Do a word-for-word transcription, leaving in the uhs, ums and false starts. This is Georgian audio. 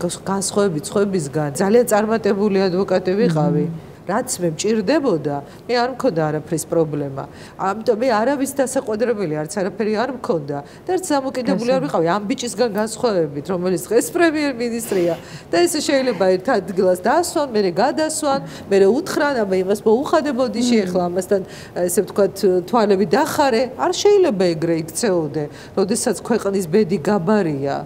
განსხვავებით სხვებისგან ძალიან წარმატებული ადვოკატი ვიყავი. რაც მე მჭირდებოდა, მე არ მქონდა არაფრის პრობლემა. ამიტომ მე არავის დასაყოდრებელი არც არაფერი არ მქონდა და ერთ დამოკიდებული არ ვიყავი ამ ბიჭისგან განსხვავებით, რომელიც დღეს პრემიერ-მინისტრია და ესე შეიძლება ერთ ადგილას დაასვან, მერე გადასვან, მერე უთხრან, აბა იმას მოუხადებოდი შეეხლა ამასთან ესე ვთქვათ თვალები დახარე, არ შეიძლება ეგრე იქცეოდე, როდესაც ქვეყნის ბედი გაბარია.